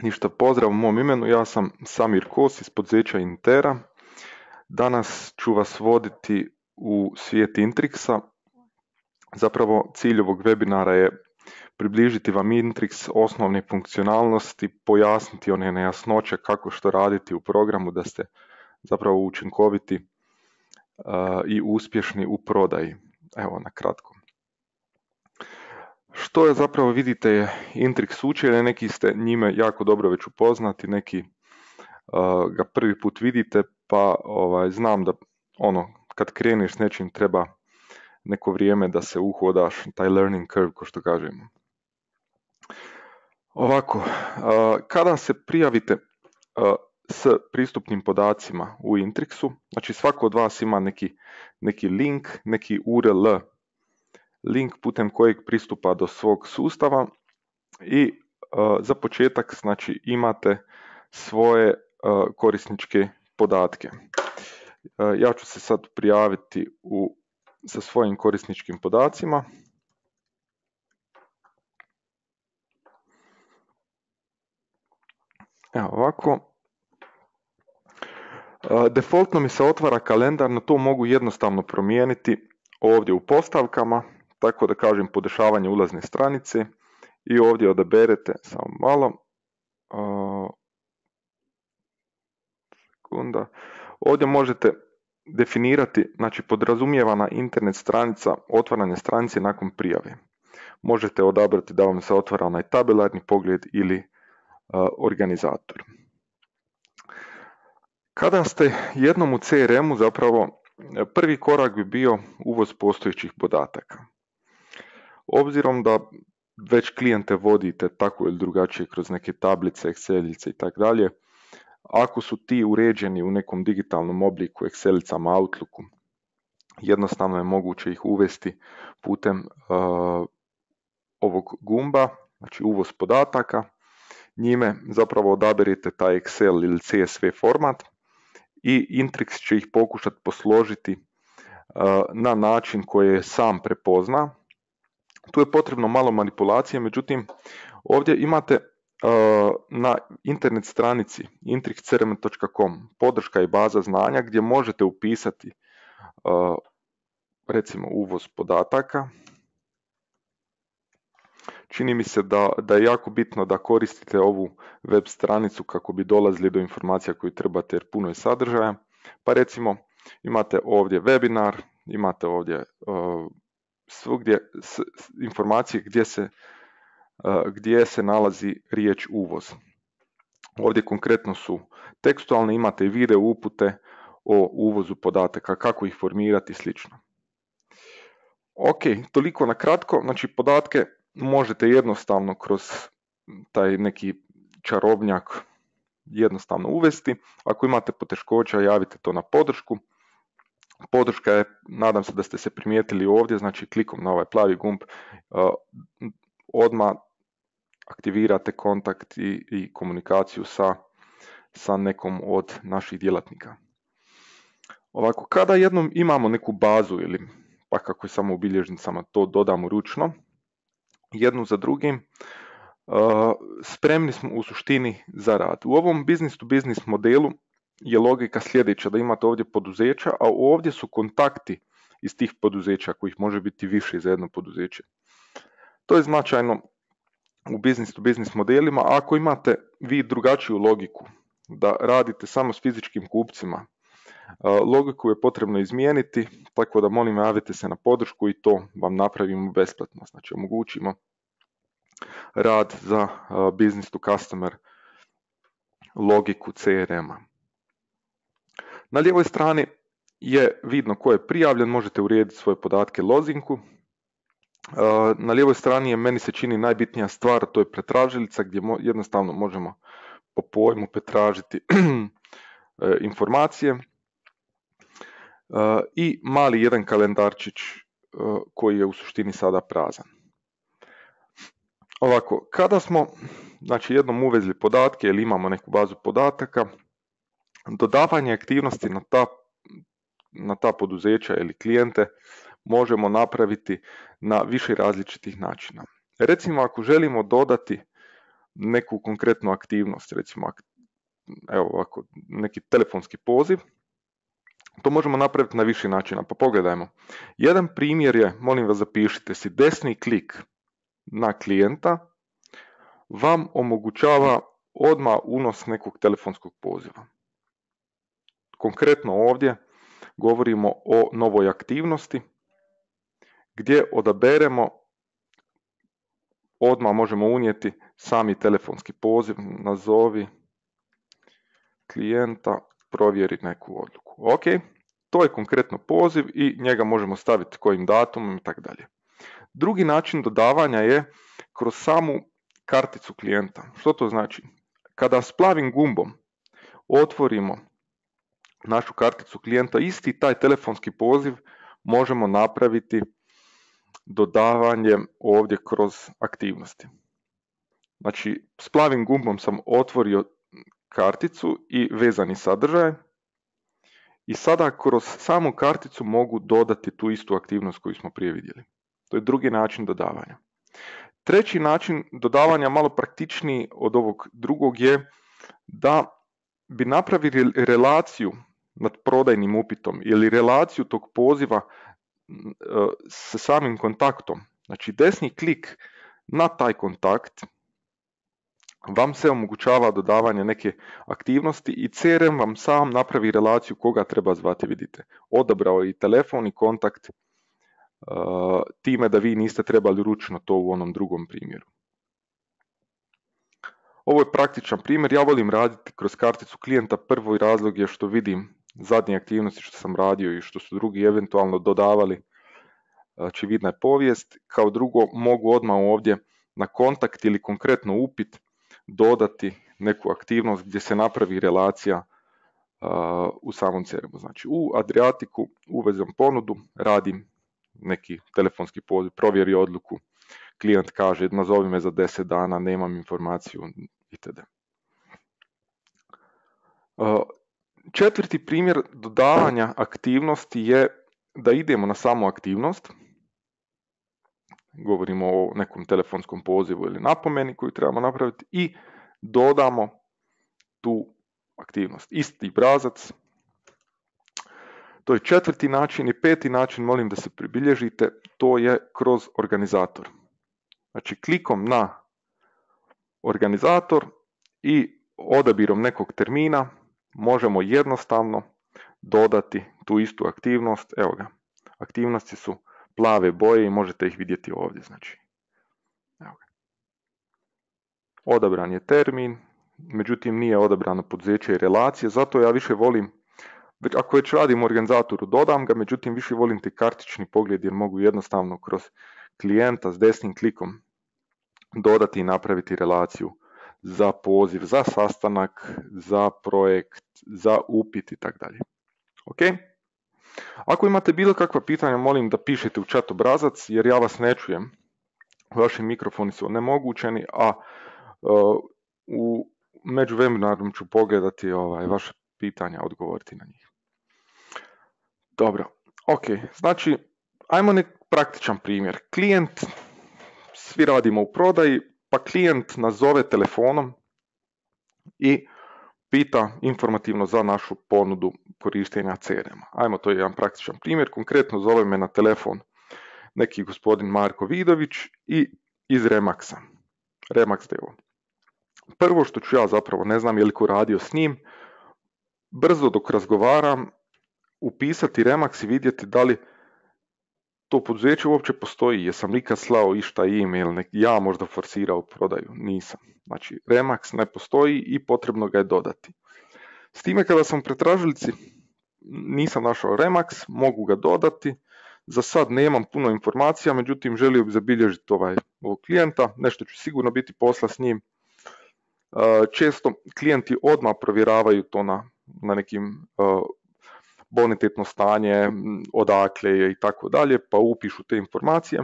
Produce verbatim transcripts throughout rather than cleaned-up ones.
Ništa, pozdrav u mom imenu, ja sam Samir Kos iz poduzeća Intera. Danas ću vas voditi u svijet Intrixa. Zapravo cilj ovog webinara je približiti vam Intrix, osnovne funkcionalnosti, pojasniti one nejasnoće kako što raditi u programu da ste zapravo učinkoviti uh, i uspješni u prodaji. Evo na kratko. Što je zapravo vidite je Intrix učenje, neki ste njime jako dobro već upoznati, neki uh, ga prvi put vidite, pa ovaj, znam da ono kad kreneš s nečim treba neko vrijeme da se uhodaš, taj learning curve ko što kažemo. Ovako, uh, kada se prijavite uh, s pristupnim podacima u Intrixu, znači svako od vas ima neki, neki link, neki U R L, link putem kojeg pristupa do svog sustava i uh, za početak znači imate svoje uh, korisničke podatke. Uh, ja ću se sad prijaviti u, sa svojim korisničkim podacima. Evo ovako. Uh, defaultno mi se otvara kalendar, no to mogu jednostavno promijeniti ovdje u postavkama, tako da kažem podešavanje ulazne stranice i ovdje odaberete, samo malo, uh, sekunda, ovdje možete definirati, znači podrazumijevana internet stranica, otvaranje stranice nakon prijave. Možete odabrati da vam se otvara onaj tabelarni pogled ili uh, organizator. Kada ste jednom u C R M-u, zapravo prvi korak bi bio uvoz postojećih podataka. Obzirom da već klijente vodite tako ili drugačije kroz neke tablice, Excelice i tako dalje, ako su ti uređeni u nekom digitalnom obliku, Excelicama, Outlooku, jednostavno je moguće ih uvesti putem uh, ovog gumba, znači uvoz podataka. Njime zapravo odaberite taj Excel ili C S V format i Intrix će ih pokušati posložiti uh, na način koji je sam prepozna. Tu je potrebno malo manipulacije, međutim ovdje imate uh, na internet stranici intrix c r m točka com podrška i baza znanja gdje možete upisati uh, recimo uvoz podataka. Čini mi se da, da je jako bitno da koristite ovu web stranicu kako bi dolazili do informacija koje trebate jer puno je sadržaja. Pa recimo imate ovdje webinar, imate ovdje uh, svugdje s, s, informacije gdje se, uh, gdje se nalazi riječ uvoz. Ovdje konkretno su tekstualne, imate i video upute o uvozu podataka, kako ih formirati i slično. Ok, toliko na kratko, znači podatke možete jednostavno kroz taj neki čarobnjak jednostavno uvesti. Ako imate poteškoća, javite to na podršku. Podrška je, nadam se da ste se primijetili ovdje, znači klikom na ovaj plavi gumb uh, odmah aktivirate kontakt i, i komunikaciju sa, sa nekom od naših djelatnika. Ovako, kada jednom imamo neku bazu ili pa kako je samo u bilježnicama to dodamo ručno, jednu za drugim, uh, spremni smo u suštini za rad. U ovom business to business modelu je logika sljedeća, da imate ovdje poduzeća, a ovdje su kontakti iz tih poduzeća, kojih može biti više za jedno poduzeće. To je značajno u business to business modelima. Ako imate vi drugačiju logiku, da radite samo s fizičkim kupcima, logiku je potrebno izmijeniti, tako da molim javite se na podršku i to vam napravimo besplatno. Znači omogućimo rad za business to customer logiku C R M-a. Na lijevoj strani je vidno ko je prijavljen, možete urediti svoje podatke lozinku. Na lijevoj strani je, meni se čini, najbitnija stvar, to je pretražilica gdje jednostavno možemo po pojmu pretražiti informacije i mali jedan kalendarčić koji je u suštini sada prazan. Ovako, kada smo znači, jednom uvezli podatke ili imamo neku bazu podataka, dodavanje aktivnosti na ta, na ta poduzeća ili klijente možemo napraviti na više različitih načina. Recimo, ako želimo dodati neku konkretnu aktivnost, recimo evo ovako, neki telefonski poziv. To možemo napraviti na više načina, pa pogledajmo. Jedan primjer je, molim vas zapišite si, desni klik na klijenta vam omogućava odmah unos nekog telefonskog poziva. Konkretno ovdje govorimo o novoj aktivnosti gdje odaberemo, odmah možemo unijeti sami telefonski poziv, nazovi klijenta, provjeri neku odluku. Ok, to je konkretno poziv i njega možemo staviti kojim datumom i tako dalje. Drugi način dodavanja je kroz samu karticu klijenta. Što to znači? Kada s plavim gumbom otvorimo našu karticu klijenta, isti taj telefonski poziv možemo napraviti dodavanjem ovdje kroz aktivnosti. Znači, s plavim gumbom sam otvorio karticu i vezani sadržaj i sada kroz samu karticu mogu dodati tu istu aktivnost koju smo prije vidjeli. To je drugi način dodavanja. Treći način dodavanja, malo praktičniji od ovog drugog, je da bi napravili relaciju nad prodajnim upitom ili relaciju tog poziva sa samim kontaktom. Znači, desni klik na taj kontakt vam se omogućava dodavanje neke aktivnosti i C R M vam sam napravi relaciju koga treba zvati, vidite. Odabrao je i telefon i kontakt, uh, time da vi niste trebali ručno to u onom drugom primjeru. Ovo je praktičan primjer, ja volim raditi kroz karticu klijenta, prvi razlog je što vidim zadnje aktivnosti što sam radio i što su drugi eventualno dodavali, znači vidna je povijest. Kao drugo, mogu odmah ovdje na kontakt ili konkretno upit dodati neku aktivnost gdje se napravi relacija uh, u samom C R M-u. Znači, u Adriatiku uvezem ponudu, radim neki telefonski poziv, provjeri odluku, klijent kaže nazovi me za deset dana, nemam informaciju itd. Uh, četvrti primjer dodavanja aktivnosti je da idemo na samu aktivnost. Govorimo o nekom telefonskom pozivu ili napomeni koju trebamo napraviti i dodamo tu aktivnost. Isti obrazac. To je četvrti način i peti način, molim da se pribilježite, to je kroz organizator. Znači, klikom na organizator i odabirom nekog termina možemo jednostavno dodati tu istu aktivnost. Evo ga, aktivnosti su plave boje i možete ih vidjeti ovdje. Znači, evo ga. Odabran je termin, međutim nije odabrano poduzeće i relacije, zato ja više volim, ako već radim u organizatoru dodam ga, međutim više volim te kartični pogled jer mogu jednostavno kroz klijenta s desnim klikom dodati i napraviti relaciju za poziv, za sastanak, za projekt, za upit i tako dalje. Ok? Ako imate bilo kakva pitanja, molim da pišete u chat obrazac jer ja vas ne čujem. Vaši mikrofoni su onemogućeni, a uh, u međuvremenom ću pogledati ovaj, vaše pitanja, odgovoriti na njih. Dobro, ok, znači ajmo nek praktičan primjer. Klijent, svi radimo u prodaji, pa klijent nazove telefonom i pita informativno za našu ponudu korištenja C R M-a. Ajmo, to je jedan praktičan primjer. Konkretno zove me na telefon neki gospodin Marko Vidović i iz Remaxa. Remax d o o. Prvo što ću ja zapravo, ne znam je li ko radio s njim, brzo dok razgovaram, upisati Remax i vidjeti da li to poduzeće uopće postoji, jesam nikad slao išta e-mail, nek ja možda forsirao prodaju, nisam. Znači, Remax ne postoji i potrebno ga je dodati. S time kada sam u pretražilici nisam našao Remax, mogu ga dodati, za sad nemam puno informacija, međutim želio bih zabilježiti ovaj, ovog klijenta, nešto ću sigurno biti posla s njim. Često klijenti odmah provjeravaju to na, na nekim uh, bonitetno stanje, odakle je i tako dalje, pa upišu te informacije.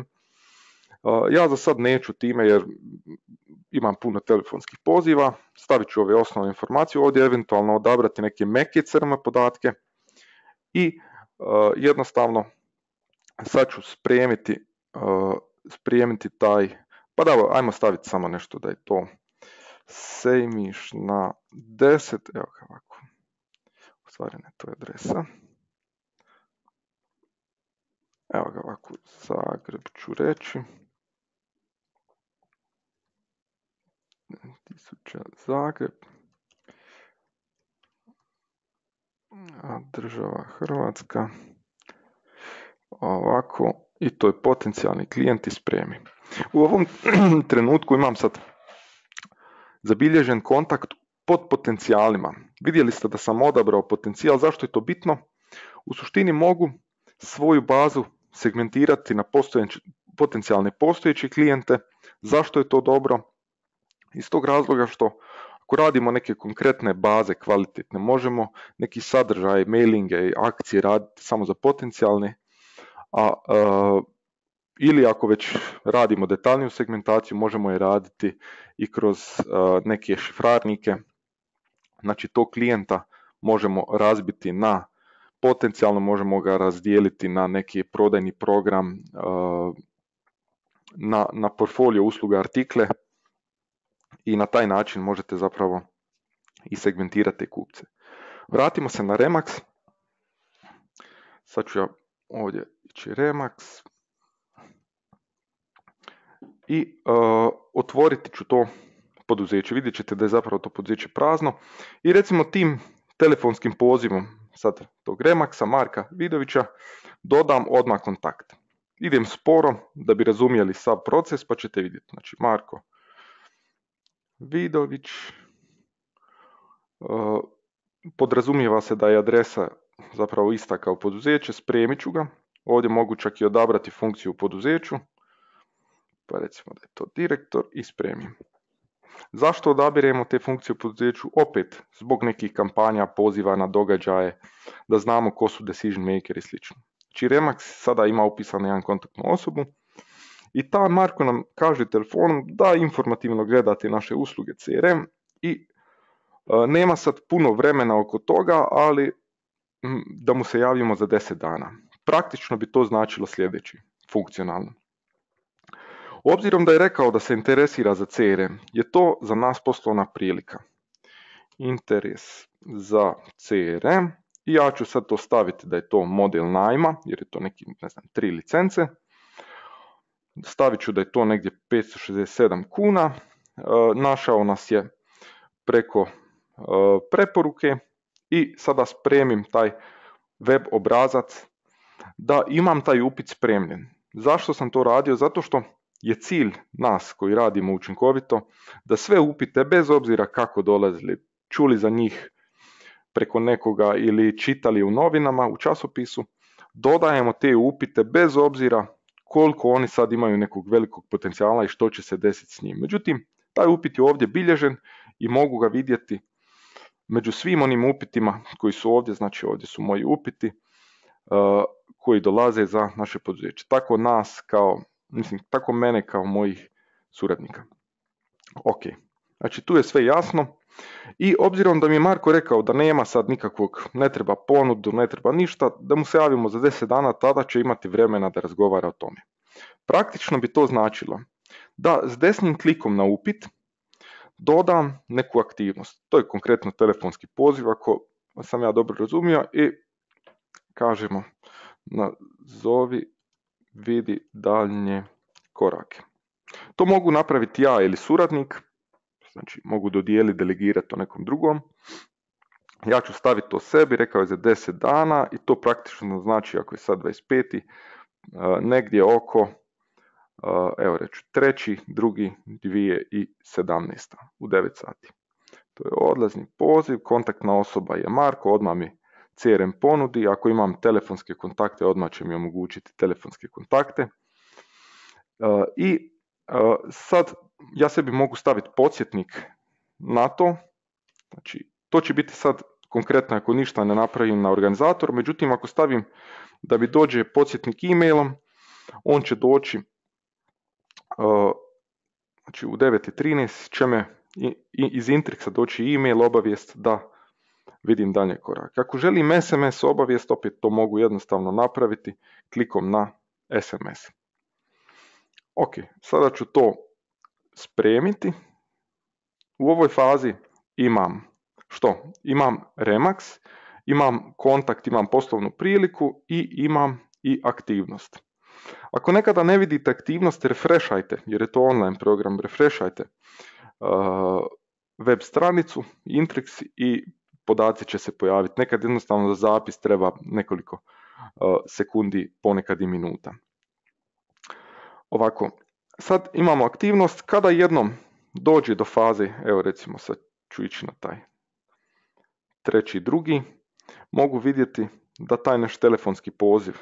Ja za sad neću time jer imam puno telefonskih poziva, stavit ću ove osnovne informacije, ovdje eventualno odabrati neke meke C R M podatke i jednostavno sad ću spremiti, spremiti taj, pa da, ajmo staviti samo nešto da je to Sejmiš na deset, evo ga ovako, u stvari ne, to je adresa. Evo ga ovako, Zagreb ću reći. Tisuća Zagreb. A država Hrvatska. Ovako, i to je potencijalni klijent i spremi. U ovom trenutku imam sad zabilježen kontakt pod potencijalima. Vidjeli ste da sam odabrao potencijal, zašto je to bitno? U suštini mogu svoju bazu segmentirati na potencijalne postojeće klijente. Zašto je to dobro? Iz tog razloga što ako radimo neke konkretne baze kvalitetne, možemo neki sadržaj, mailinge i akcije raditi samo za potencijalne, a, a ili ako već radimo detaljniju segmentaciju, možemo je raditi i kroz a, neke šifrarnike. Znači tog klijenta možemo razbiti na potencijalno, možemo ga razdijeliti na neki prodajni program, a, na, na portfolio usluga artikle i na taj način možete zapravo i segmentirati kupce. Vratimo se na Remax. Sad ću ja ovdje ići Remax i uh, otvoriti ću to poduzeće. Vidjet ćete da je zapravo to poduzeće prazno i recimo tim telefonskim pozivom sad tog Remaxa, Marka Vidovića, dodam odmah kontakt. Idem sporo da bi razumjeli sav proces, pa ćete vidjeti. Znači Marko Vidović, uh, podrazumijeva se da je adresa zapravo ista kao poduzeće, spremit ću ga. Ovdje mogu čak i odabrati funkciju u poduzeću, pa recimo da je to direktor i spremim. Zašto odabiremo te funkcije u poduzeću? Opet, zbog nekih kampanja, poziva na događaje, da znamo ko su decision maker i sl. Znači Remax sada ima upisanu jedan kontaktnu osobu i ta Marko nam kaže telefonom da informativno gledate naše usluge C R M i uh, nema sad puno vremena oko toga, ali m, da mu se javimo za deset dana. Praktično bi to značilo sljedeći, funkcionalno. Obzirom da je rekao da se interesira za C R M, je to za nas poslovna prilika. Interes za C R M i ja ću sad to staviti da je to model najma, jer je to neki, ne znam, tri licence. Stavit ću da je to negdje petsto šezdeset sedam kuna. E, našao nas je preko e, preporuke i sada spremim taj web obrazac da imam taj upit spremljen. Zašto sam to radio? Zato što je cilj nas koji radimo učinkovito da sve upite, bez obzira kako dolazili, čuli za njih preko nekoga ili čitali u novinama, u časopisu, dodajemo te upite bez obzira koliko oni sad imaju nekog velikog potencijala i što će se desiti s njim. Međutim, taj upit je ovdje bilježen i mogu ga vidjeti među svim onim upitima koji su ovdje, znači ovdje su moji upiti uh, koji dolaze za naše poduzeće. Tako nas kao, mislim, tako mene kao mojih suradnika. Ok, znači tu je sve jasno i obzirom da mi je Marko rekao da nema sad nikakvog, ne treba ponudu, ne treba ništa, da mu se javimo za deset dana, tada će imati vremena da razgovara o tome. Praktično bi to značilo da s desnim klikom na upit dodam neku aktivnost. To je konkretno telefonski poziv, ako sam ja dobro razumio, i kažemo nazovi, vidi daljnje korake. To mogu napraviti ja ili suradnik, znači mogu dodijeliti, delegirati to nekom drugom. Ja ću staviti to sebi, rekao je za deset dana i to praktično znači, ako je sad dvadeset peti negdje oko, evo reću, treći, drugi, dvije tisuće sedamnaeste u devet sati. To je odlazni poziv, kontaktna osoba je Marko, odmah mi C R M ponudi, ako imam telefonske kontakte, odmah će mi omogućiti telefonske kontakte. I sad ja sebi mogu staviti podsjetnik na to, znači to će biti sad konkretno ako ništa ne napravim na organizator, međutim ako stavim da mi dođe podsjetnik e-mailom, on će doći znači u devet i trinaest će me iz Intrixa doći e-mail obavijest da vidim dalje korak. Ako želim S M S obavijest, opet to mogu jednostavno napraviti klikom na S M S. Ok, sada ću to spremiti. u ovoj fazi imam što? Imam Remax, imam kontakt, imam poslovnu priliku i imam i aktivnost. Ako nekada ne vidite aktivnost, refreshajte, jer je to online program, refreshajte uh, web stranicu, Intrix i podaci će se pojaviti. Nekad jednostavno za zapis treba nekoliko uh, sekundi, ponekad i minuta. Ovako, sad imamo aktivnost, kada jednom dođe do faze, evo recimo sad ću ići na taj treći drugi, mogu vidjeti da taj naš telefonski poziv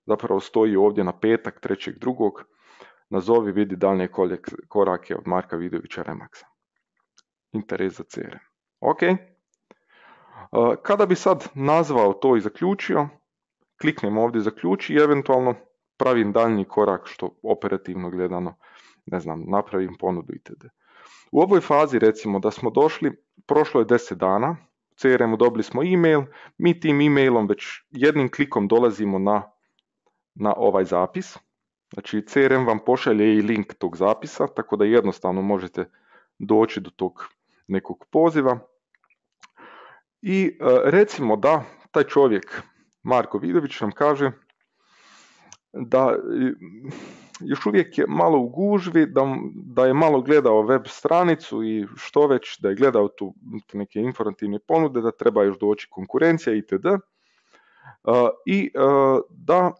zapravo stoji ovdje na petak trećeg drugog, nazovi vidi daljnje korake od Marka Vidovića Remaxa. Interes za C R M. Ok. Kada bi sad nazvao to i zaključio, kliknem ovdje zaključi i eventualno pravim daljnji korak što operativno gledano, ne znam, napravim ponudu itd. U ovoj fazi recimo da smo došli, prošlo je deset dana, u C R M-u dobili smo e-mail, mi tim e-mailom već jednim klikom dolazimo na, na ovaj zapis. Znači C R M vam pošalje i link tog zapisa, tako da jednostavno možete doći do tog nekog poziva. I recimo da taj čovjek, Marko Vidović, nam kaže da još uvijek je malo u gužvi, da, da je malo gledao web stranicu i što već, da je gledao tu neke informativne ponude, da treba još doći konkurencija itd. I da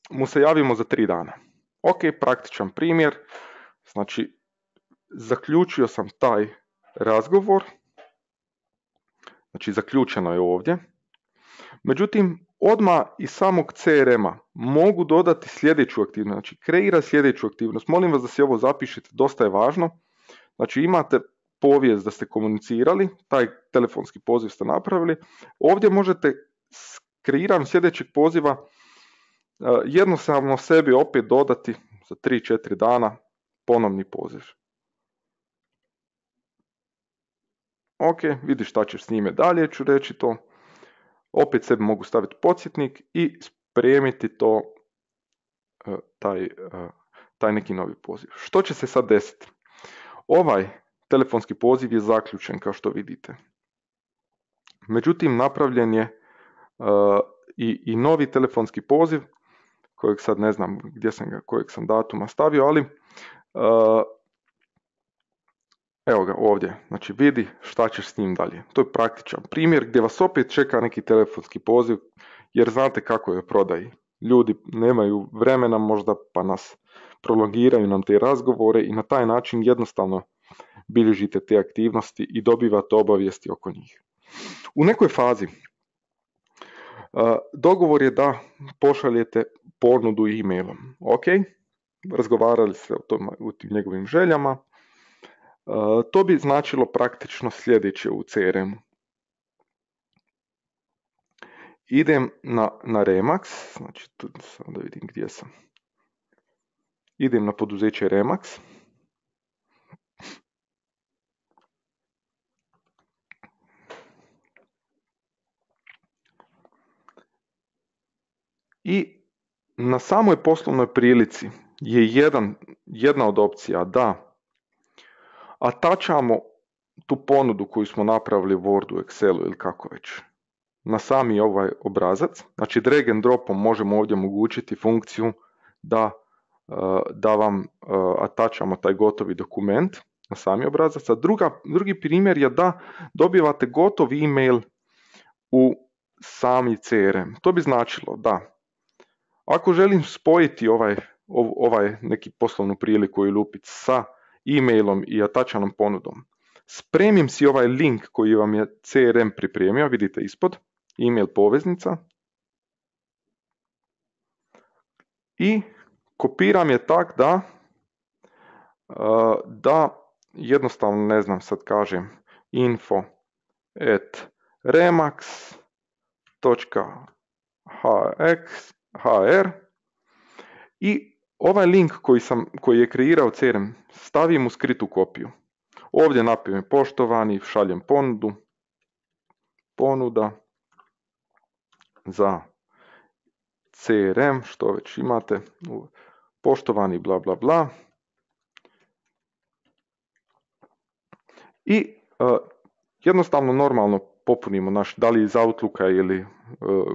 mu se javimo za tri dana. Ok, praktičan primjer, znači zaključio sam taj razgovor, znači zaključeno je ovdje, međutim odmah iz samog C R M-a mogu dodati sljedeću aktivnost, znači kreira sljedeću aktivnost, molim vas da se ovo zapišete, dosta je važno, znači imate povijest da ste komunicirali, taj telefonski poziv ste napravili, ovdje možete s kreiranjem sljedećeg poziva jednostavno sebi opet dodati za tri četiri dana ponovni poziv. Ok, vidiš šta ćeš s njime dalje, ću reći to. Opet sebi mogu staviti podsjetnik i spremiti to, taj, taj neki novi poziv. Što će se sad desiti? Ovaj telefonski poziv je zaključen kao što vidite. Međutim, napravljen je uh, i, i novi telefonski poziv, kojeg sad ne znam gdje sam ga, kojeg sam datuma stavio, ali uh, evo ga ovdje, znači vidi šta ćeš s njim dalje. To je praktičan primjer gdje vas opet čeka neki telefonski poziv, jer znate kako je prodaji. Ljudi nemaju vremena možda pa nas prolongiraju nam te razgovore i na taj način jednostavno bilježite te aktivnosti i dobivate obavijesti oko njih. U nekoj fazi uh, dogovor je da pošaljete ponudu e-mailom. Ok, razgovarali ste o, tom, o tim njegovim željama. Uh, to bi značilo praktično sljedeće u C R M-u. Idem na, na Remax, znači tu samo da vidim gdje sam. Idem na poduzeće Remax. I na samoj poslovnoj prilici je jedan, jedna od opcija da atačamo tu ponudu koju smo napravili u Wordu, Excelu ili kako već na sami ovaj obrazac. Znači drag and dropom možemo ovdje omogućiti funkciju da, da vam atačamo taj gotovi dokument na sami obrazac. A druga, drugi primjer je da dobivate gotov email u sami C R M. To bi značilo da ako želim spojiti ovaj, ovaj neki poslovnu priliku ili upit sa e-mailom i atačanom ponudom, spremim si ovaj link koji vam je C R M pripremio, vidite ispod, e-mail poveznica, i kopiram je tak da, da jednostavno, ne znam, sad kažem info at remax točka h r i ovaj link koji, sam, koji je kreirao C R M stavim u skritu kopiju. Ovdje napišem poštovani, šaljem ponudu, ponuda za C R M, što već imate, poštovani bla bla bla. i uh, jednostavno normalno popunimo naš, da li iz Outlooka ili uh,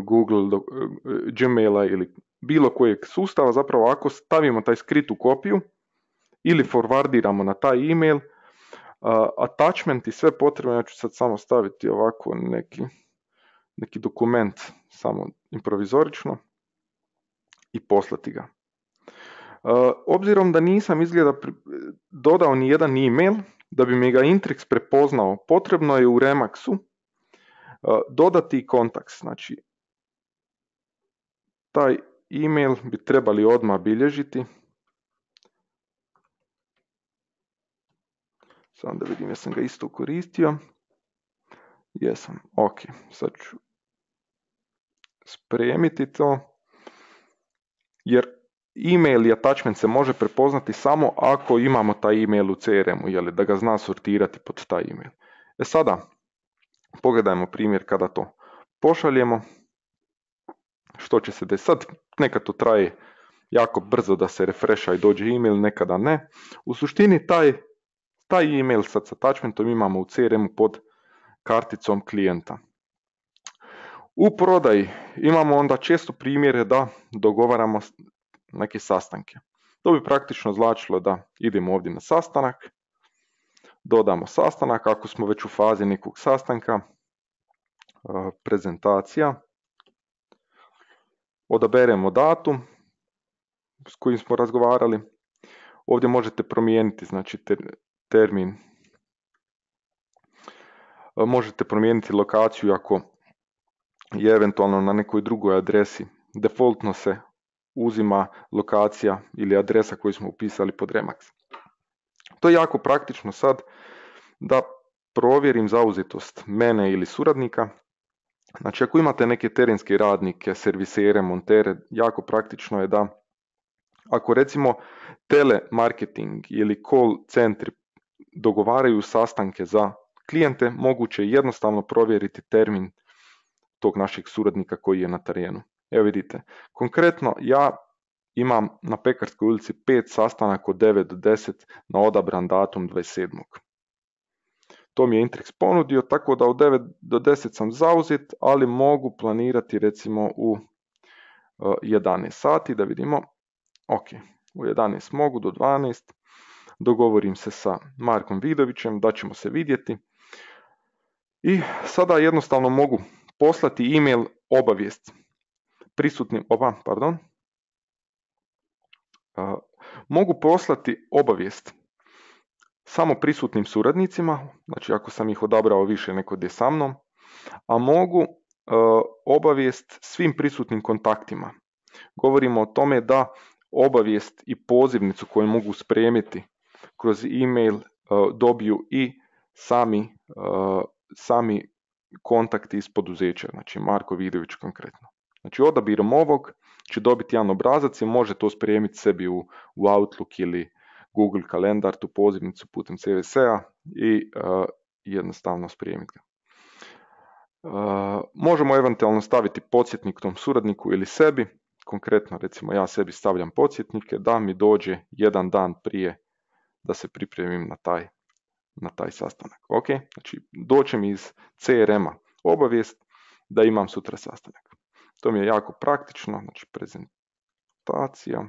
Google, do, uh, Gmaila ili bilo kojeg sustava, zapravo ako stavimo taj skritu kopiju ili forwardiramo na taj email, uh, attachment i sve potrebno, ja ću sad samo staviti ovako neki, neki dokument, samo improvizorično i poslati ga. Uh, obzirom da nisam izgleda dodao ni jedan email, da bi mi ga Intrix prepoznao, potrebno je u Remaxu uh, dodati kontakt. Znači, taj email bi trebali odmah bilježiti. Samo da vidim, jesam ga isto koristio. Jesam, ok. Sad ću spremiti to. Jer email i attachment se može prepoznati samo ako imamo taj email u C R M-u, jeli, da ga zna sortirati pod taj email. E sada, pogledajmo primjer kada to pošaljemo. Što će se desiti? Sad nekad to traje jako brzo da se refresha i dođe email, nekada ne. U suštini taj, taj email sad s attachmentom imamo u C R M-u pod karticom klijenta. U prodaji imamo onda često primjere da dogovaramo neke sastanke. To bi praktično značilo da idemo ovdje na sastanak, dodamo sastanak, ako smo već u fazi nekog sastanka, prezentacija, odaberemo datum s kojim smo razgovarali. Ovdje možete promijeniti, znači, ter, termin, možete promijeniti lokaciju ako je eventualno na nekoj drugoj adresi. Defaultno se uzima lokacija ili adresa koju smo upisali pod Remax. To je jako praktično sad da provjerim zauzetost mene ili suradnika. Znači, ako imate neke terenske radnike, servisere, montere, jako praktično je da ako recimo telemarketing ili call centri dogovaraju sastanke za klijente, moguće je jednostavno provjeriti termin tog našeg suradnika koji je na terenu. Evo vidite, konkretno ja imam na Pekarskoj ulici pet sastanaka od devet do deset na odabran datum dvadeset sedmog To mi je Intrix ponudio, tako da od devet do deset sam zauzet, ali mogu planirati recimo u jedanaest sati, da vidimo. Ok, u jedanaest mogu do dvanaest, dogovorim se sa Markom Vidovićem da ćemo se vidjeti i sada jednostavno mogu poslati email obavijest prisutnim, oba, pardon, uh, mogu poslati obavijest samo prisutnim suradnicima, znači ako sam ih odabrao više neko gdje sa mnom, a mogu uh, obavijest svim prisutnim kontaktima. Govorimo o tome da obavijest i pozivnicu koju mogu spremiti kroz email uh, dobiju i sami, uh, sami kontakti iz poduzeća, znači Marko Vidović konkretno. Znači odabirom ovog će dobiti jedan obrazac i može to spremiti sebi u, u Outlook ili Google kalendar, tu pozivnicu putem C V S-a i uh, jednostavno spremiti ga. Uh, možemo eventualno staviti podsjetnik tom suradniku ili sebi, konkretno recimo ja sebi stavljam podsjetnike da mi dođe jedan dan prije da se pripremim na taj, na taj sastanak. Ok, znači doće mi iz C R M-a obavijest da imam sutra sastanak. To mi je jako praktično, znači prezentacija.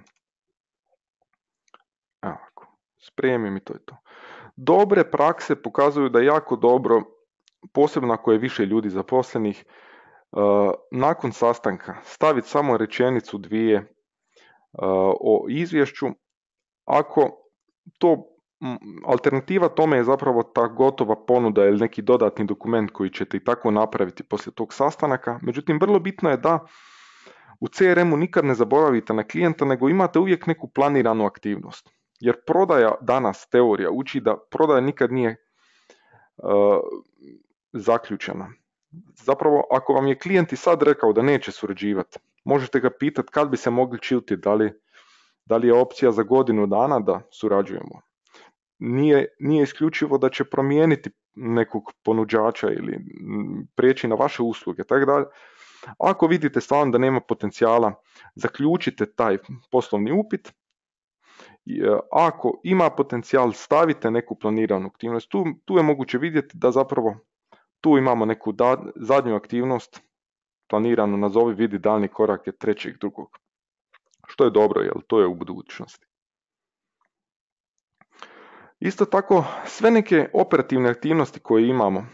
Evo, spremim i to je to. Dobre prakse pokazuju da je jako dobro, posebno ako je više ljudi zaposlenih, uh, nakon sastanka staviti samo rečenicu dvije uh, o izvješću. Ako to, alternativa tome je zapravo ta gotova ponuda ili neki dodatni dokument koji ćete i tako napraviti poslije tog sastanaka. Međutim, vrlo bitno je da u C R M-u nikad ne zaboravite na klijenta, nego imate uvijek neku planiranu aktivnost. Jer prodaja danas, teorija, uči da prodaja nikad nije uh, zaključena. Zapravo, ako vam je klijent i sad rekao da neće surađivati, možete ga pitati kad bi se mogli čuti, da li, da li je opcija za godinu dana da surađujemo. Nije, nije isključivo da će promijeniti nekog ponuđača ili prijeći na vaše usluge. Tako da, ako vidite stvarno da nema potencijala, zaključite taj poslovni upit ako ima potencijal, stavite neku planiranu aktivnost. Tu, tu je moguće vidjeti da zapravo tu imamo neku da, zadnju aktivnost planiranu, nazovi vidi daljnji korak je trećeg drugog. Što je dobro, jer to je u budućnosti. Isto tako, sve neke operativne aktivnosti koje imamo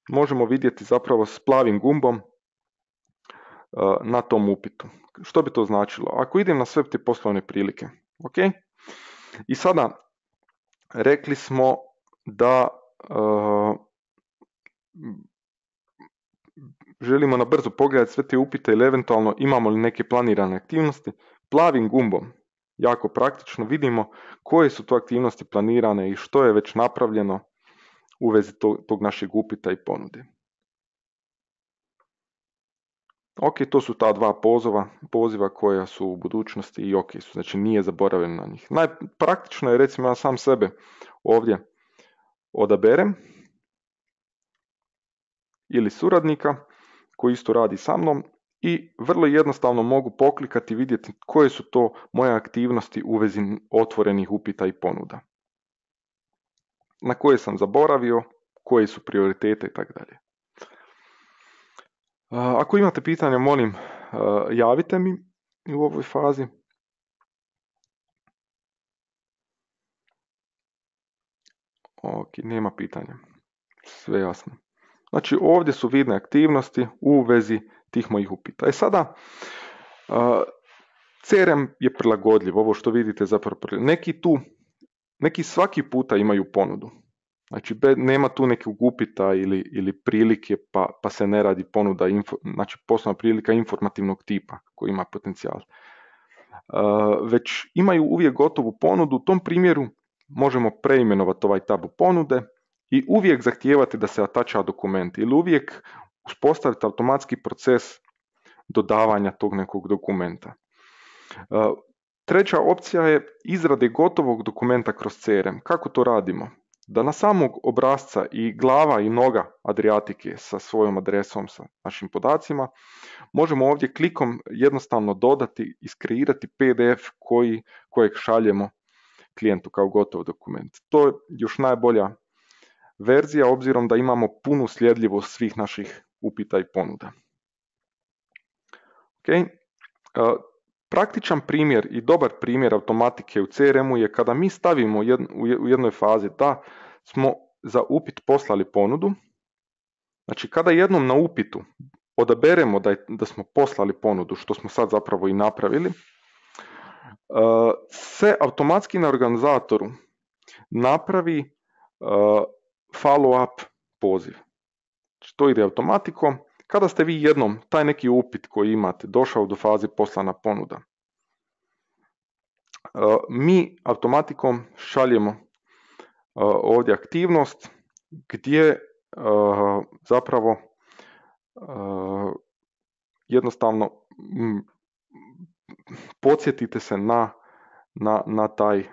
možemo vidjeti zapravo s plavim gumbom na tom upitu. Što bi to značilo? Ako idem na sve te poslovne prilike, ok? I sada rekli smo da uh, želimo na brzo pogledati sve te upite ili eventualno imamo li neke planirane aktivnosti. Plavim gumbom, jako praktično, vidimo koje su to aktivnosti planirane i što je već napravljeno u vezi tog, tog našeg upita i ponude. Ok, to su ta dva poziva, poziva koja su u budućnosti i ok su, znači nije zaboravljen na njih. Najpraktično je, recimo, ja sam sebe ovdje odaberem ili suradnika koji isto radi sa mnom i vrlo jednostavno mogu poklikati i vidjeti koje su to moje aktivnosti u vezi otvorenih upita i ponuda. Na koje sam zaboravio, koje su prioritete i tako dalje. Ako imate pitanja, molim, javite mi u ovoj fazi. Ok, nema pitanja. Sve jasno. Znači, ovdje su vidne aktivnosti u vezi tih mojih upita. E sada, C R M je prilagodljiv, ovo što vidite zapravo. Neki tu, neki svaki puta imaju ponudu. Znači, nema tu nekog upita ili, ili prilike pa, pa se ne radi ponuda, info, znači poslovna prilika informativnog tipa koji ima potencijal. Uh, već imaju uvijek gotovu ponudu, u tom primjeru možemo preimenovati ovaj tab u ponude i uvijek zahtijevati da se atača dokument ili uvijek uspostaviti automatski proces dodavanja tog nekog dokumenta. Uh, treća opcija je izrade gotovog dokumenta kroz C R M. Kako to radimo? Da na samog obrasca i glava i noga Adriatike sa svojom adresom, sa našim podacima, možemo ovdje klikom jednostavno dodati i iskreirati P D F koji, kojeg šaljemo klijentu kao gotov dokument. To je još najbolja verzija obzirom da imamo punu sljedivost svih naših upita i ponuda. Okay. Praktičan primjer i dobar primjer automatike u C R M-u je kada mi stavimo u jednoj fazi da smo za upit poslali ponudu. Znači, kada jednom na upitu odaberemo da, je, da smo poslali ponudu, što smo sad zapravo i napravili, se automatski na organizatoru napravi follow-up poziv. Znači, to ide automatikom. Kada ste vi jednom taj neki upit koji imate došao do faze poslana ponuda, mi automatikom šaljemo ovdje aktivnost gdje zapravo jednostavno podsjetite se na, na, na, taj,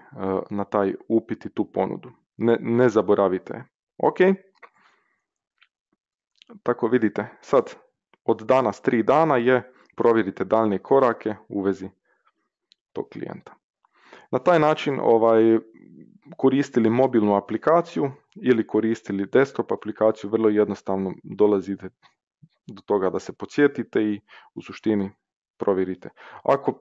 na taj upit i tu ponudu. Ne, ne zaboravite. Ok. Tako vidite, sad od danas tri dana je provjerite daljnje korake u vezi tog klijenta. Na taj način ovaj, koristili mobilnu aplikaciju ili koristili desktop aplikaciju, vrlo jednostavno dolazite do toga da se podsjetite i u suštini provjerite. Ako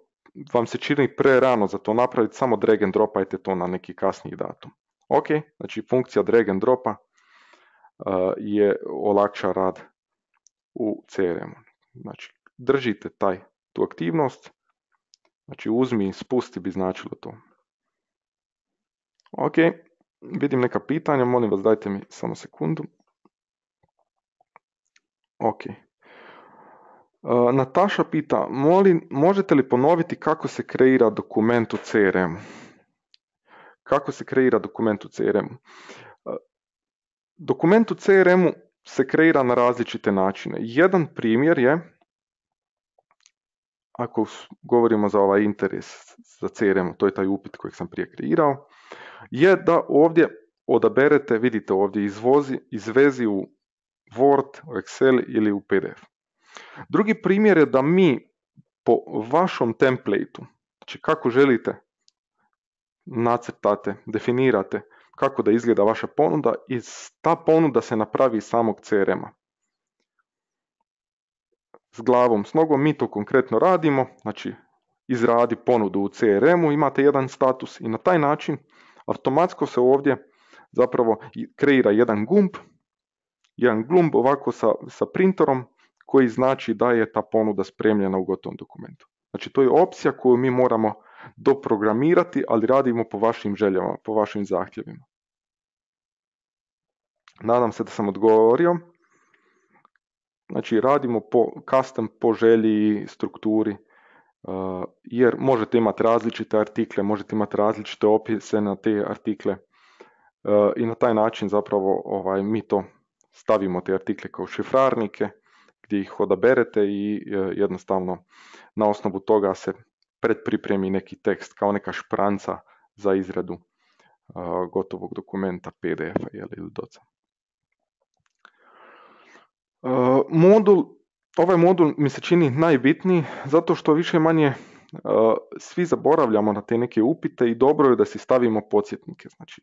vam se čini pre rano za to napraviti, samo drag and dropajte to na neki kasniji datum. Ok, znači funkcija drag and dropa uh, je olakša rad u C R M-u. Znači, držite taj, tu aktivnost, znači uzmi i spusti bi značilo to. Ok, vidim neka pitanja, molim vas dajte mi samo sekundu. Ok. Uh, Nataša pita, molim, možete li ponoviti kako se kreira dokument u C R M-u? Kako se kreira dokument u C R M-u? Uh, dokument u C R M-u se kreira na različite načine. Jedan primjer je, ako govorimo za ovaj interes za C R M, to je taj upit kojeg sam prije kreirao, je da ovdje odaberete, vidite ovdje, izvozi, izvezi u Word, u Excel ili u P D F. Drugi primjer je da mi po vašom templateu, znači kako želite nacrtate, definirate kako da izgleda vaša ponuda i ta ponuda se napravi iz samog C R M-a. S glavom, s nogom mi to konkretno radimo, znači izradi ponudu u C R M-u, imate jedan status i na taj način automatsko se ovdje zapravo kreira jedan gumb, jedan gumb ovako sa, sa printerom koji znači da je ta ponuda spremljena u gotovom dokumentu. Znači to je opcija koju mi moramo doprogramirati, ali radimo po vašim željama, po vašim zahtjevima. Nadam se da sam odgovorio. Znači radimo po custom, po želji, strukturi, uh, jer možete imati različite artikle, možete imati različite opise na te artikle uh, i na taj način zapravo ovaj, mi to stavimo te artikle kao šifrarnike gdje ih odaberete i uh, jednostavno na osnovu toga se predpripremi neki tekst kao neka špranca za izradu uh, gotovog dokumenta P D F-a ili doca. Uh, modul, ovaj modul mi se čini najbitniji zato što više manje uh, svi zaboravljamo na te neke upite i dobro je da si stavimo podsjetnike. Znači,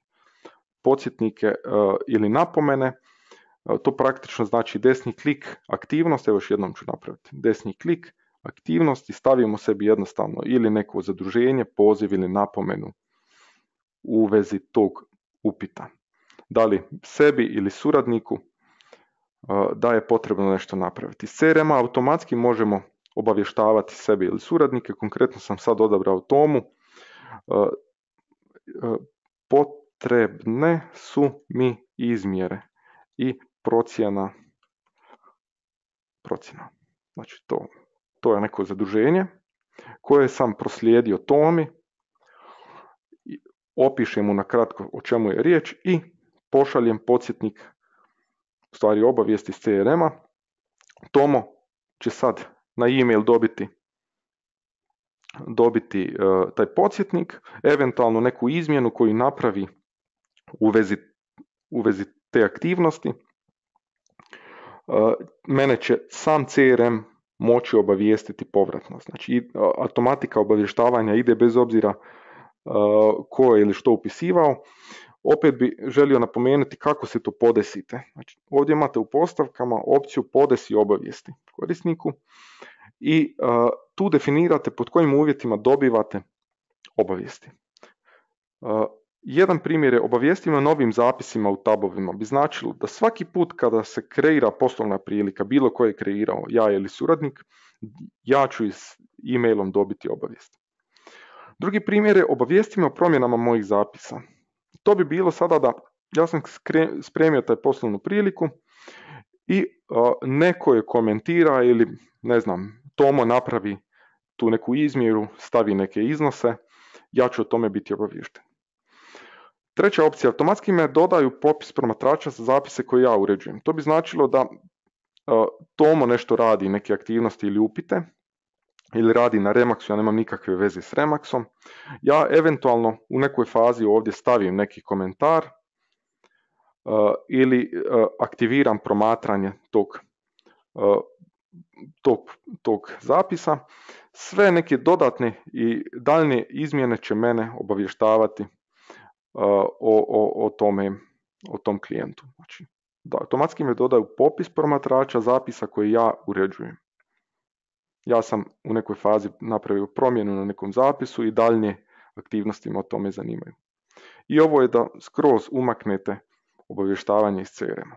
podsjetnike uh, ili napomene, uh, to praktično znači desni klik, aktivnost, evo još jednom ću napraviti, desni klik, aktivnost i stavimo sebi jednostavno ili neko zaduženje, poziv ili napomenu u vezi tog upita. Da li sebi ili suradniku da je potrebno nešto napraviti. Iz C R M-a automatski možemo obavještavati sebe ili suradnike, konkretno sam sad odabrao Tomu, potrebne su mi izmjere i procjena, procjena. Znači to, to je neko zaduženje koje sam proslijedio Tomi, opišem mu na kratko o čemu je riječ i pošaljem podsjetnik, u stvari obavijesti iz C R M-a. Tomo će sad na e-mail dobiti, dobiti uh, taj podsjetnik, eventualno neku izmjenu koju napravi u vezi, u vezi te aktivnosti. Uh, mene će sam C R M moći obavijestiti povratno. Znači uh, automatika obavještavanja ide bez obzira uh, ko je ili što upisivao. Opet bi želio napomenuti kako se to podesite. Znači, ovdje imate u postavkama opciju podesi obavijesti korisniku i uh, tu definirate pod kojim uvjetima dobivate obavijesti. Uh, jedan primjer je obavijestima novim zapisima u tabovima bi značilo da svaki put kada se kreira poslovna prilika, bilo koje je kreirao ja ili suradnik, ja ću s e-mailom dobiti obavijest. Drugi primjer je obavijestima o promjenama mojih zapisa. To bi bilo sada da ja sam spremio taj poslovnu priliku i uh, neko je komentira ili ne znam, Tomo napravi tu neku izmjeru, stavi neke iznose, ja ću o tome biti obaviješten. Treća opcija, automatski me dodaju popis promatrača za zapise koje ja uređujem. To bi značilo da uh, Tomo nešto radi, neke aktivnosti ili upite, ili radi na Remaxu, ja nemam nikakve veze s Remaxom, ja eventualno u nekoj fazi ovdje stavim neki komentar uh, ili uh, aktiviram promatranje tog, uh, tog, tog zapisa. Sve neke dodatne i daljnje izmjene će mene obavještavati uh, o, o, o, tome, o tom klijentu. Znači, da, automatski me dodaju popis promatrača zapisa koje ja uređujem. Ja sam u nekoj fazi napravio promjenu na nekom zapisu i daljnje aktivnosti me o tome zanimaju. I ovo je da skroz umaknete obavještavanje iz C R M-a.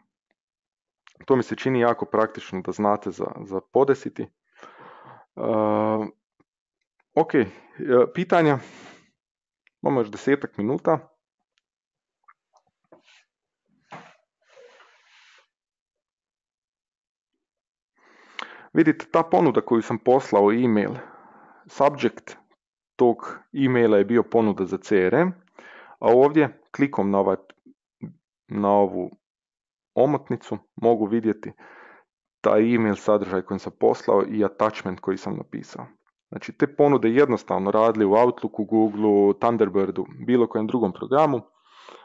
To mi se čini jako praktično da znate za, za podesiti. Uh, ok, pitanja. Imamo još desetak minuta. Vidite, ta ponuda koju sam poslao e-mail, subject tog e-maila je bio ponuda za C R M, a ovdje klikom na, ovaj, na ovu omotnicu mogu vidjeti taj e-mail sadržaj koji sam poslao i attachment koji sam napisao. Znači te ponude jednostavno radili u Outlooku, Googleu, Thunderbirdu, bilo kojem drugom programu,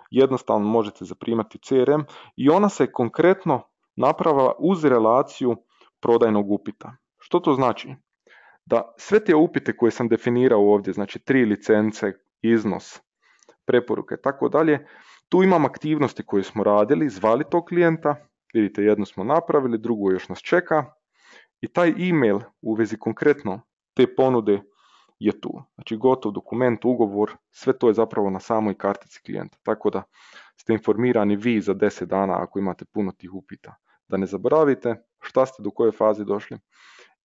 jednostavno možete zaprimati C R M i ona se konkretno napravila uz relaciju prodajnog upita. Što to znači? Da sve te upite koje sam definirao ovdje, znači tri licence, iznos, preporuke i tako dalje. Tu imam aktivnosti koje smo radili, zvali tog klijenta, vidite jednu smo napravili, drugu još nas čeka i taj e-mail u vezi konkretno te ponude je tu. Znači gotov dokument, ugovor, sve to je zapravo na samoj kartici klijenta, tako da ste informirani vi za deset dana ako imate puno tih upita. Da ne zaboravite šta ste do koje faze došli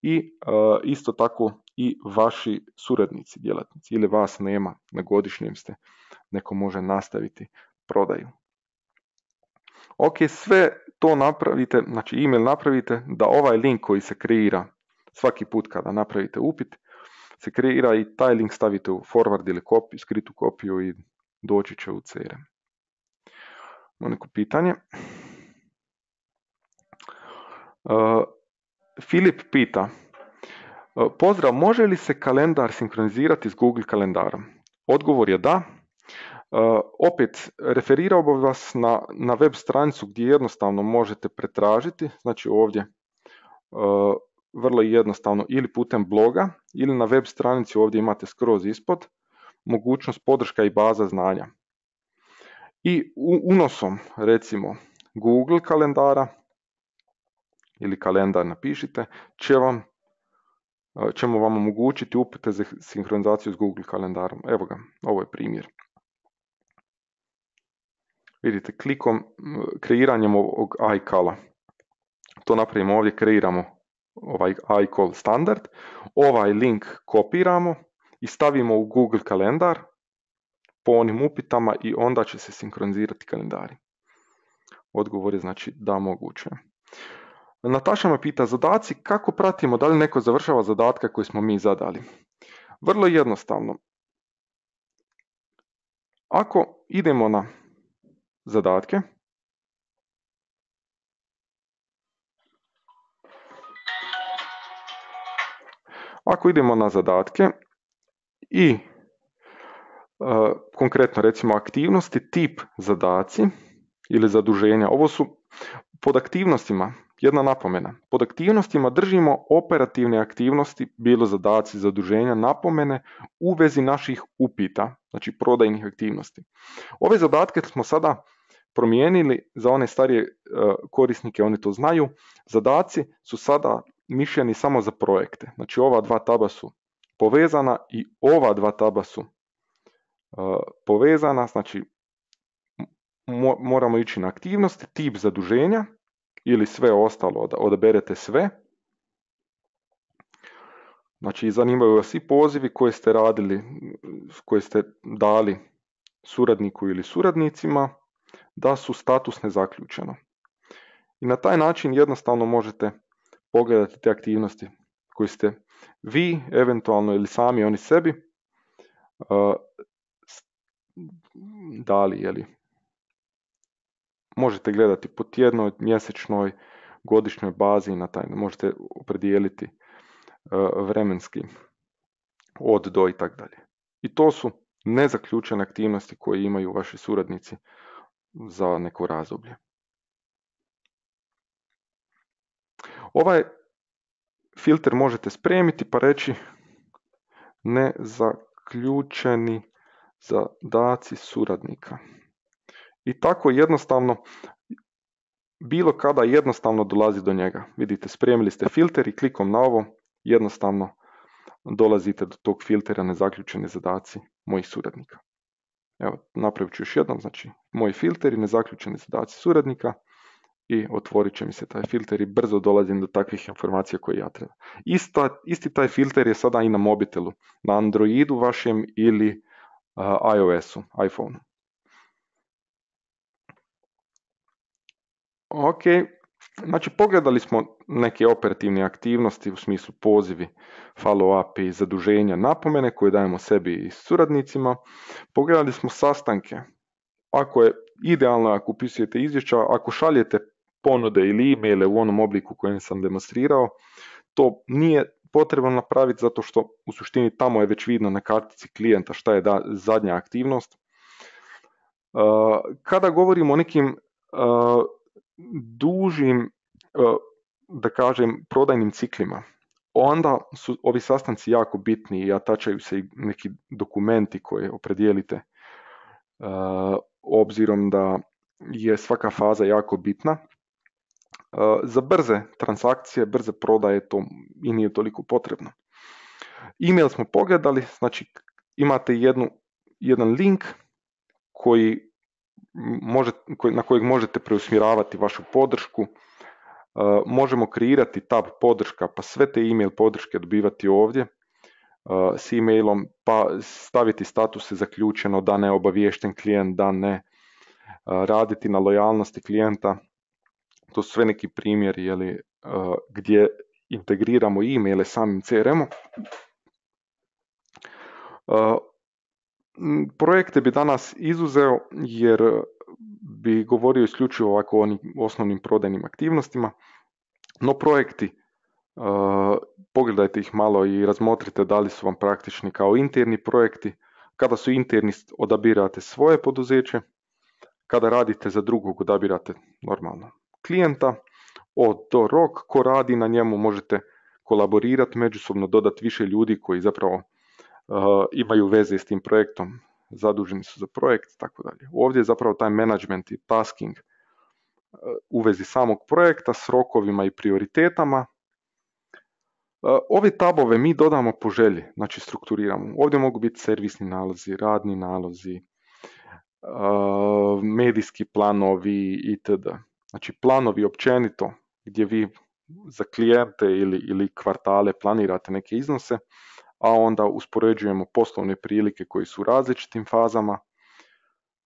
i uh, isto tako i vaši suradnici, djelatnici ili vas nema, na godišnjem ste, neko može nastaviti prodaju. Ok, sve to napravite, znači email napravite da ovaj link koji se kreira svaki put kada napravite upit, se kreira i taj link stavite u forward ili kopiju, skritu kopiju i doći će u C R M. Imamo neko pitanje. Uh, Filip pita, uh, pozdrav, može li se kalendar sinkronizirati s Google kalendarom? Odgovor je da. Uh, opet, referirao bih vas na, na web stranicu gdje jednostavno možete pretražiti, znači ovdje uh, vrlo jednostavno ili putem bloga ili na web stranici ovdje imate skroz ispod mogućnost podrška i baza znanja. I unosom recimo Google kalendara ili kalendar napišite, će vam, ćemo vam omogućiti upute za sinhronizaciju s Google kalendarom. Evo ga, ovo je primjer. Vidite, klikom, kreiranjem ovog iCala, to napravimo ovdje, kreiramo ovaj iCall standard, ovaj link kopiramo i stavimo u Google kalendar po onim upitama i onda će se sinkronizirati kalendari. Odgovor je znači da, moguće. Nataša me pita, zadaci, kako pratimo da li neko završava zadatke koje smo mi zadali? Vrlo jednostavno. Ako idemo na zadatke, ako idemo na zadatke i e, konkretno recimo aktivnosti, tip zadaci ili zaduženja, ovo su pod aktivnostima, jedna napomena, pod aktivnostima držimo operativne aktivnosti, bilo zadaci, zaduženja, napomene u vezi naših upita, znači prodajnih aktivnosti. Ove zadatke smo sada promijenili za one starije uh, korisnike, oni to znaju, zadaci su sada mišljeni samo za projekte, znači ova dva taba su povezana i ova dva taba su uh, povezana, znači mo- moramo ići na aktivnosti, tip zaduženja ili sve ostalo, odaberete sve. Znači zanimaju vas i pozivi koje ste radili, koje ste dali suradniku ili suradnicima, da su statusne zaključeno. I na taj način jednostavno možete pogledati te aktivnosti koje ste vi, eventualno ili sami oni sebi, uh, dali. Jeli. Možete gledati po tjednoj, mjesečnoj, godišnjoj bazi i na taj možete opredijeliti uh, vremenski od do i tako dalje. I to su nezaključene aktivnosti koje imaju vaši suradnici za neko razdoblje. Ovaj filter možete spremiti pa reći nezaključeni zadaci suradnika. I tako jednostavno, bilo kada jednostavno dolazi do njega. Vidite, spremili ste filter i klikom na ovo jednostavno dolazite do tog filtera nezaključeni zadaci mojih suradnika. Evo, napravit ću još jednom, znači, moji filteri, nezaključeni zadaci suradnika i otvorit će mi se taj filter i brzo dolazim do takvih informacija koje ja treba. Ista, isti taj filter je sada i na mobitelu, na Androidu vašem ili uh, iOS-u, iPhone-u. Ok, znači pogledali smo neke operativne aktivnosti u smislu pozivi, follow-up i zaduženja, napomene koje dajemo sebi i suradnicima. Pogledali smo sastanke. Ako je idealno, ako upisujete izvješća, ako šaljete ponude ili e-maile u onom obliku kojem sam demonstrirao, to nije potrebno napraviti zato što u suštini tamo je već vidno na kartici klijenta šta je da, zadnja aktivnost. Kada govorimo o nekim dužim, da kažem, prodajnim ciklima, onda su ovi sastanci jako bitni i atačaju se i neki dokumenti koje opredijelite obzirom da je svaka faza jako bitna. Za brze transakcije, brze prodaje to i nije toliko potrebno. E-mail smo pogledali, znači imate jednu, jedan link koji može, koji, na kojeg možete preusmjeravati vašu podršku. Uh, možemo kreirati tab podrška, pa sve te e-mail podrške dobivati ovdje uh, s e-mailom, pa staviti statuse zaključeno, da ne obaviješten klijent, da ne, uh, raditi na lojalnosti klijenta. To su sve neki primjeri jeli, uh, gdje integriramo e-maile samim C R M-om. Uh, projekte bi danas izuzeo jer bi govorio isključivo ovako o onim osnovnim prodajnim aktivnostima, no projekti, uh, pogledajte ih malo i razmotrite da li su vam praktični kao interni projekti. Kada su interni, odabirate svoje poduzeće, kada radite za drugog, odabirate normalno klijenta, od do rok, ko radi na njemu, možete kolaborirati, međusobno dodati više ljudi koji zapravo uh, imaju veze s tim projektom, zaduženi su za projekt, tako dalje. Ovdje je zapravo taj management i tasking uh, u vezi samog projekta s rokovima i prioritetama. Uh, ove tabove mi dodamo po želji, znači strukturiramo. Ovdje mogu biti servisni nalozi, radni nalozi, uh, medijski planovi itd. Znači planovi općenito gdje vi za klijente ili, ili kvartale planirate neke iznose, a onda uspoređujemo poslovne prilike koji su u različitim fazama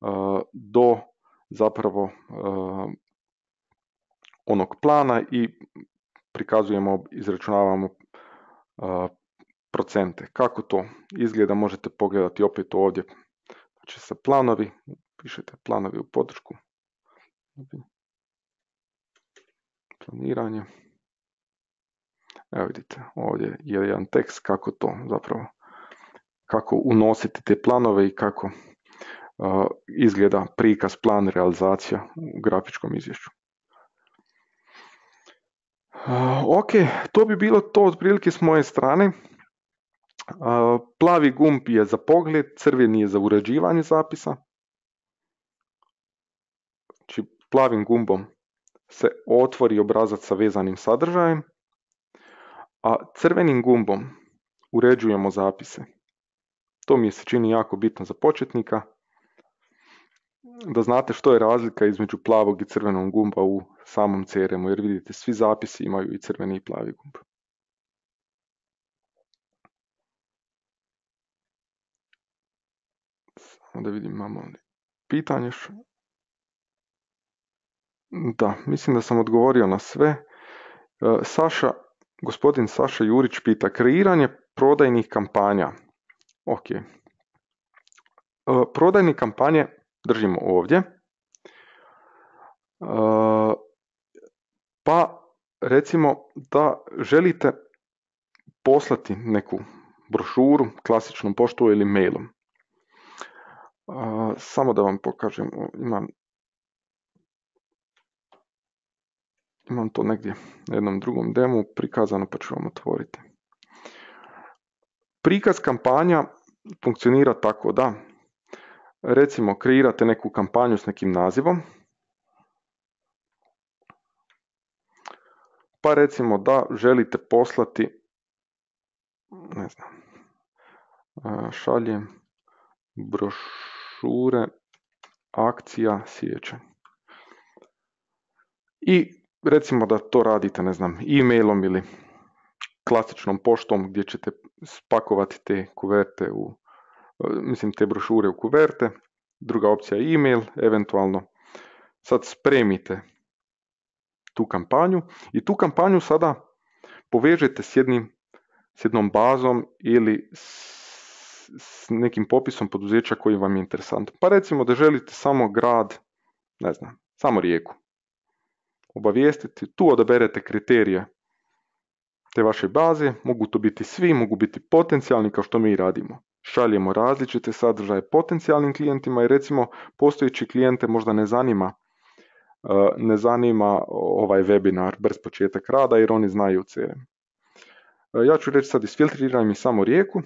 uh, do zapravo uh, onog plana i prikazujemo, izračunavamo uh, procente. Kako to izgleda možete pogledati opet ovdje. Znači sa planovi, pišete planovi u podršku. Planiranje. Evo vidite, ovdje je jedan tekst kako to zapravo, kako unositi te planove i kako uh, izgleda prikaz, plan, realizacija u grafičkom izvješću. Uh, ok, to bi bilo to otprilike s moje strane. Uh, plavi gumb je za pogled, crveni je za uređivanje zapisa. Znači plavim gumbom se otvori obrazac sa vezanim sadržajem, a crvenim gumbom uređujemo zapise. To mi se čini jako bitno za početnika, da znate što je razlika između plavog i crvenog gumba u samom C R M-u, jer vidite svi zapisi imaju i crveni i plavi gumb. Samo da vidim imamo li pitanje. Da, mislim da sam odgovorio na sve. Saša, gospodin Saša Jurić pita, kreiranje prodajnih kampanja. Ok. Prodajne kampanje držimo ovdje. Pa recimo da želite poslati neku brošuru klasičnom poštom ili mailom. Samo da vam pokažem, imam Imam to negdje na jednom drugom demu prikazano, pa ću vam otvoriti. Prikaz kampanja funkcionira tako da, recimo, kreirate neku kampanju s nekim nazivom, pa recimo da želite poslati, ne znam, šaljem brošure, akcija, siječanj. I recimo da to radite, ne znam, e-mailom ili klasičnom poštom gdje ćete spakovati te kuverte u, mislim te brošure u kuverte. Druga opcija je e-mail, eventualno sad spremite tu kampanju i tu kampanju sada povežete s jednim, s jednom bazom ili s, s nekim popisom poduzeća koji vam je interesantan. Pa recimo da želite samo grad, ne znam, samo Rijeku obavijestiti, tu odaberete kriterije te vaše baze, mogu to biti svi, mogu biti potencijalni kao što mi radimo. Šaljemo različite sadržaje potencijalnim klijentima i recimo postojeći klijente možda ne zanima, ne zanima ovaj webinar brz početak rada jer oni znaju C R M. Ja ću reći sad isfiltriraj mi samo Rijeku.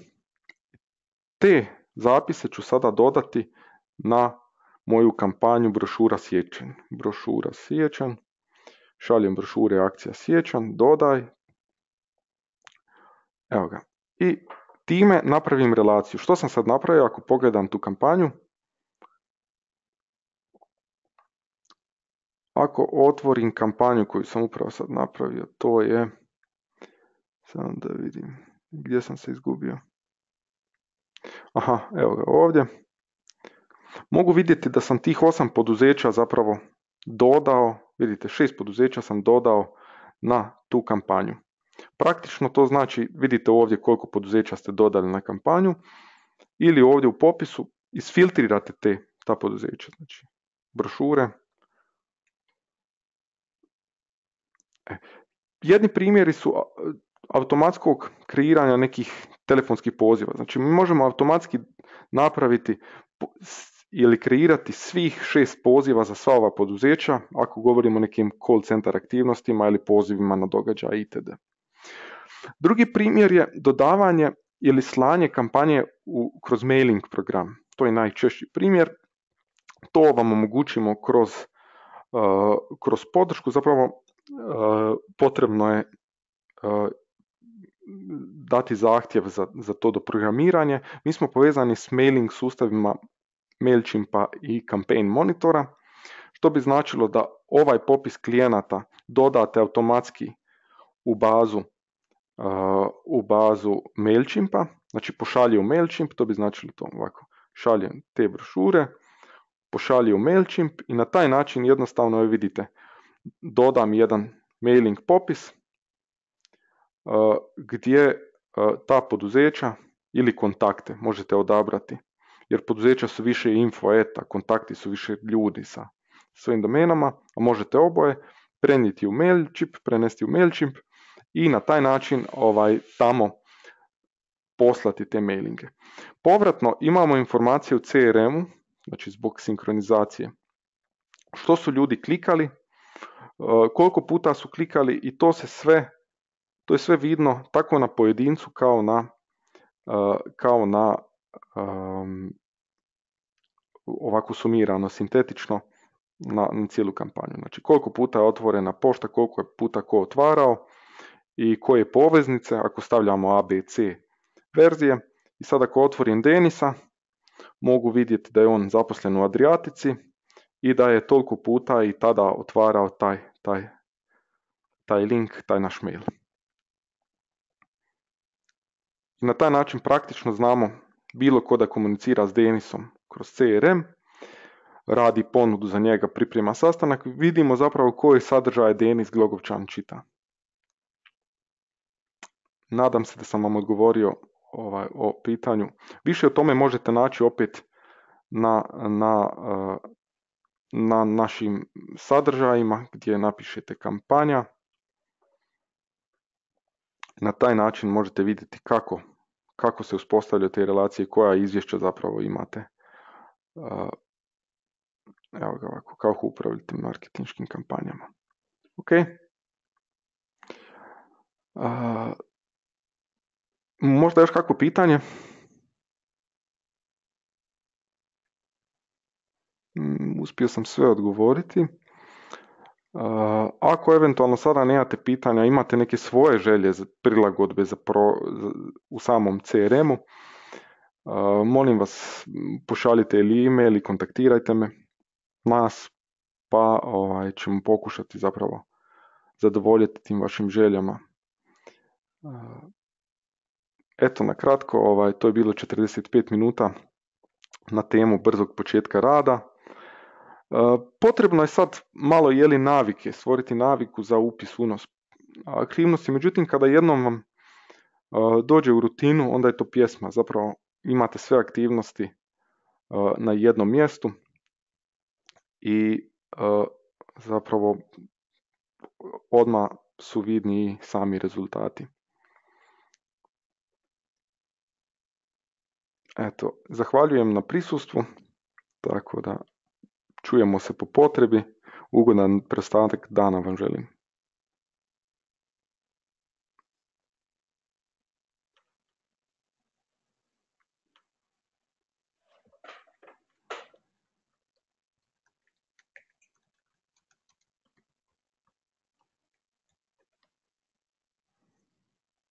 Te zapise ću sada dodati na moju kampanju brošura siječanj. Brošura siječanj, šaljem brošure akcija siječanj, dodaj. Evo ga. I time napravim relaciju. Što sam sad napravio ako pogledam tu kampanju? Ako otvorim kampanju koju sam upravo sad napravio, to je, samo da vidim gdje sam se izgubio. Aha, evo ga ovdje. Mogu vidjeti da sam tih osam poduzeća zapravo dodao, vidite šest poduzeća sam dodao na tu kampanju. Praktično to znači, vidite ovdje koliko poduzeća ste dodali na kampanju ili ovdje u popisu isfiltrirate te, ta poduzeća, znači brošure. E, jedni primjeri su automatskog kreiranja nekih telefonskih poziva. Znači mi možemo automatski napraviti ili kreirati svih šest poziva za sva ova poduzeća ako govorimo o nekim call center aktivnostima ili pozivima na događaj itd. Drugi primjer je dodavanje ili slanje kampanje u, kroz mailing program. To je najčešći primjer. To vam omogućimo kroz, uh, kroz podršku. Zapravo uh, potrebno je uh, dati zahtjev za, za to do programiranje. Mi smo povezani s mailing sustavima Mailchimpa i Campaign Monitora, što bi značilo da ovaj popis klijenata dodate automatski u bazu uh, u bazu Mailchimpa, znači pošalje u Mailchimp, to bi značilo to ovako, šaljem te brošure, pošalje u Mailchimp i na taj način jednostavno vidite, dodam jedan mailing popis uh, gdje uh, ta poduzeća ili kontakte možete odabrati, jer poduzeća su više info, eta, kontakti su više ljudi sa svojim domenama, a možete oboje prenijeti u Mailchimp, prenesti u Mailchimp i na taj način ovaj, tamo poslati te mailinge. Povratno imamo informacije u C R M-u, znači zbog sinkronizacije, što su ljudi klikali, koliko puta su klikali i to se sve, to je sve vidno tako na pojedincu kao na, kao na um, ovako sumirano, sintetično na, na cijelu kampanju. Znači koliko puta je otvorena pošta, koliko je puta ko otvarao i koje poveznice, ako stavljamo A, B, C verzije. I sad ako otvorim Denisa, mogu vidjeti da je on zaposlen u Adriatici i da je toliko puta i tada otvarao taj, taj, taj link, taj naš mail. I na taj način praktično znamo bilo ko da komunicira s Denisom kroz C R M, radi ponudu za njega, priprema sastanak, vidimo zapravo koji sadržaj Denis Glogovčan čita. Nadam se da sam vam odgovorio ovaj, o pitanju. Više o tome možete naći opet na, na, na našim sadržajima gdje napišete kampanja. Na taj način možete vidjeti kako, kako se uspostavljaju te relacije, koja izvješća zapravo imate. Evo ga ovako, kako upravljate marketinškim kampanjama. Ok. Uh, možda još kakvo pitanje? Um, uspio sam sve odgovoriti. Uh, ako eventualno sada nemate pitanja, imate neke svoje želje za prilagodbe za pro, za, u samom C R M-u, uh, molim vas pošaljite ili e-mail ili kontaktirajte me, nas, pa ovaj, ćemo pokušati zapravo zadovoljiti tim vašim željama. Eto, na kratko, ovaj, to je bilo četrdeset pet minuta na temu brzog početka rada. Potrebno je sad malo jeli navike, stvoriti naviku za upis, unos aktivnosti, međutim kada jednom vam dođe u rutinu, onda je to pjesma, zapravo imate sve aktivnosti na jednom mjestu i zapravo odmah su vidni sami rezultati. Eto, zahvaljujem na prisustvu, tako da čujemo se po potrebi, ugodan preostanak dana vam želim.